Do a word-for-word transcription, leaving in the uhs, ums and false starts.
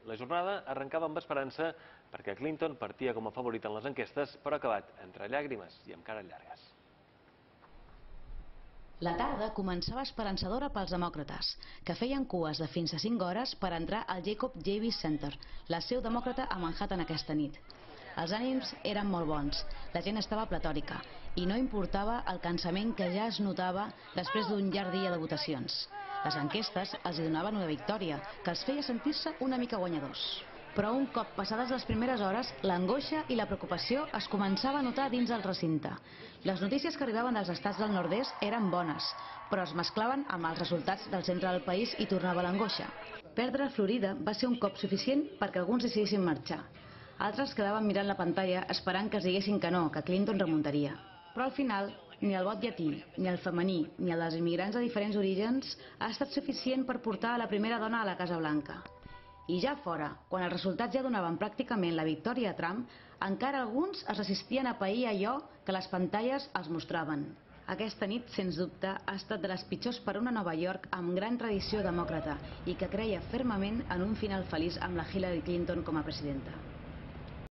La jornada arrencava amb esperança perquè Clinton partia com a favorit en les enquestes, però ha acabat entre llàgrimes i amb cares llargues. La tarda començava esperançadora pels demòcrates, que feien cues de fins a cinc hores per entrar al Jacob Javits Center, la seu demòcrata a Manhattan aquesta nit. Els ànims eren molt bons, la gent estava pletòrica i no importava el cansament que ja es notava després d'un llarg dia de votacions. Les enquestes els hi donaven una victòria, que els feia sentir-se una mica guanyadors. Però un cop passades les primeres hores, l'angoixa i la preocupació es començava a notar dins el recinte. Les notícies que arribaven dels estats del nord-est eren bones, però es mesclaven amb els resultats del centre del país i tornava l'angoixa. Perdre Florida va ser un cop suficient perquè alguns decidissin marxar. Altres quedaven mirant la pantalla esperant que els diguessin que no, que Clinton remuntaria. Però al final, ni el vot llatí, ni el femení, ni el dels immigrants de diferents orígens ha estat suficient per portar a la primera dona a la Casa Blanca. I ja fora, quan els resultats ja donaven pràcticament la victòria a Trump, encara alguns es resistien a pair allò que les pantalles els mostraven. Aquesta nit, sens dubte, ha estat de les pitjors per a una Nova York amb gran tradició demòcrata i que creia fermament en un final feliç amb la Hillary Clinton com a presidenta.